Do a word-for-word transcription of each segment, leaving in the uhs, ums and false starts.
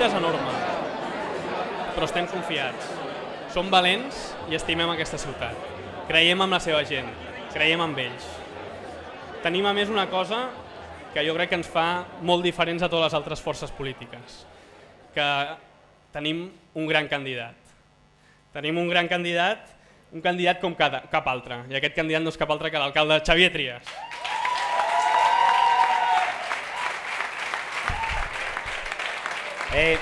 lluita és enorme, però estem confiats. Som valents i estimem aquesta ciutat. Creiem en la seva gent, creiem en ells. Tenim a més una cosa que jo crec que ens fa molt diferents a totes les altres forces polítiques, que tenim un gran candidat. Tenim un gran candidat, un candidat com cap altre, i aquest candidat no és cap altre que l'alcalde Xavier Trias. Eh,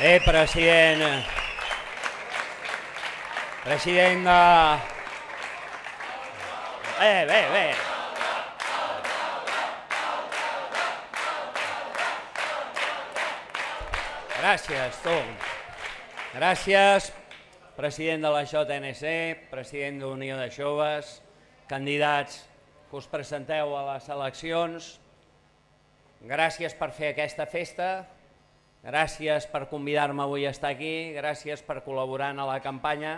eh, president, president de... Eh, bé, bé. Gràcies, tu. Gràcies, president de la J N C, president d'Unió de Joves, candidats que us presenteu a les eleccions. Gràcies per fer aquesta festa, gràcies per convidar-me avui a estar aquí, gràcies per col·laborar en la campanya.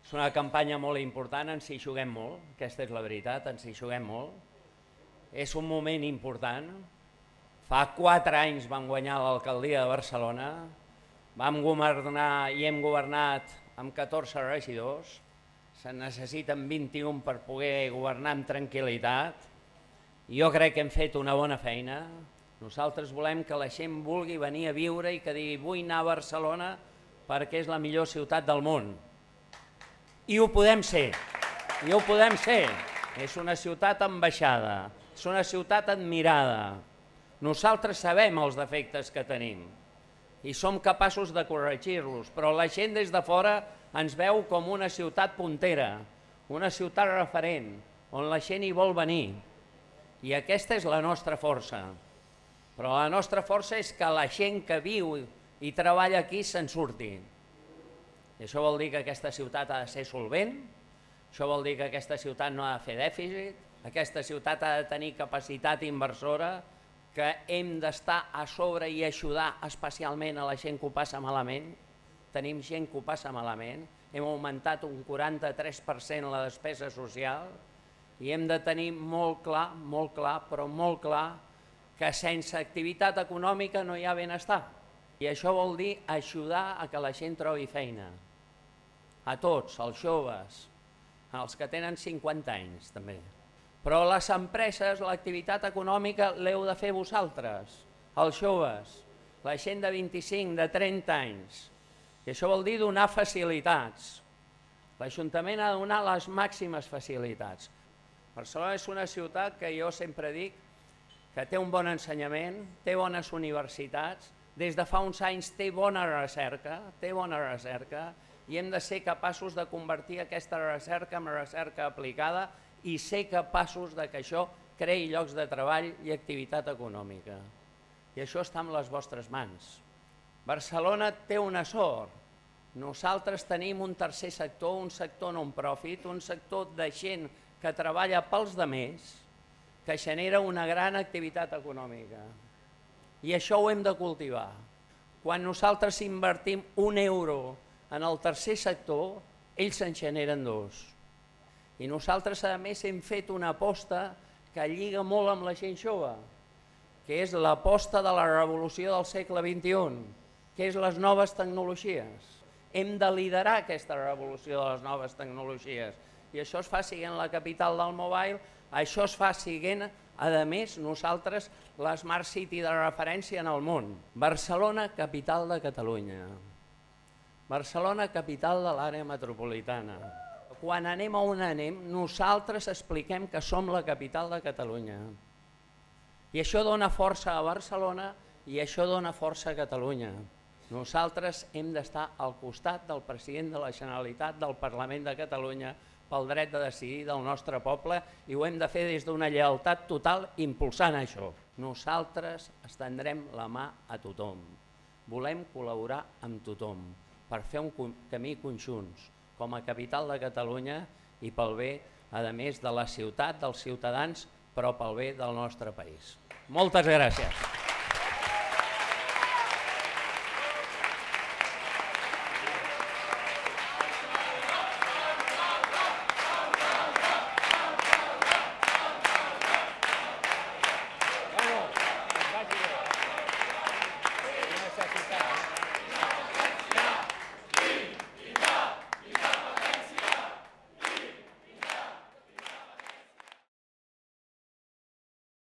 És una campanya molt important, ens hi juguem molt, aquesta és la veritat, ens hi juguem molt. És un moment important. Fa quatre anys vam guanyar l'alcaldia de Barcelona, vam governar i hem governat amb catorze regidors, se'n necessiten vint-i-un per poder governar amb tranquil·litat. Jo crec que hem fet una bona feina. Nosaltres volem que la gent vulgui venir a viure i que digui vull anar a Barcelona perquè és la millor ciutat del món. I ho podem ser, i ho podem ser. És una ciutat ambaixada, és una ciutat admirada. Nosaltres sabem els defectes que tenim i som capaços de corregir-los, però la gent des de fora ens veu com una ciutat puntera, una ciutat referent, on la gent hi vol venir. I aquesta és la nostra força. Però la nostra força és que la gent que viu i treballa aquí se'n surti. I això vol dir que aquesta ciutat ha de ser solvent, això vol dir que aquesta ciutat no ha de fer dèficit, aquesta ciutat ha de tenir capacitat inversora, que hem d'estar a sobre i ajudar especialment a la gent que ho passa malament. Tenim gent que ho passa malament, hem augmentat un quaranta-tres per cent la despesa social i hem de tenir molt clar, molt clar, però molt clar, que sense activitat econòmica no hi ha benestar. I això vol dir ajudar a que la gent trobi feina. A tots, als joves, als que tenen cinquanta anys també. Però les empreses, l'activitat econòmica l'heu de fer vosaltres, els joves, la gent de vint-i-cinc, de trenta anys. I això vol dir donar facilitats. L'Ajuntament ha de donar les màximes facilitats. Barcelona és una ciutat que jo sempre dic que té un bon ensenyament, té bones universitats, des de fa uns anys té bona recerca, té bona recerca, i hem de ser capaços de convertir aquesta recerca en recerca aplicada i ser capaços que això creï llocs de treball i activitat econòmica. I això està en les vostres mans. Barcelona té una sort. Nosaltres tenim un tercer sector, un sector non-profit, un sector de gent que treballa pels demés, que genera una gran activitat econòmica. I això ho hem de cultivar. Quan nosaltres invertim un euro en el tercer sector, ells en generen dos. I nosaltres, a més, hem fet una aposta que lliga molt amb la gent jove, que és l'aposta de la revolució del segle vint-i-u, que és les noves tecnologies. Hem de liderar aquesta revolució de les noves tecnologies. I això es fa sent la capital del mobile, això es fa sent, a més, nosaltres, l'Smart City de referència en el món. Barcelona, capital de Catalunya. Barcelona, capital de l'àrea metropolitana. Quan anem a on anem, nosaltres expliquem que som la capital de Catalunya. I això dona força a Barcelona i això dona força a Catalunya. Nosaltres hem d'estar al costat del president de la Generalitat, del Parlament de Catalunya, pel dret de decidir del nostre poble i ho hem de fer des d'una lleialtat total impulsant això. Nosaltres estendrem la mà a tothom. Volem col·laborar amb tothom per fer un camí conjunts com a capital de Catalunya i pel bé, a més, de la ciutat, dels ciutadans, però pel bé del nostre país. Moltes gràcies.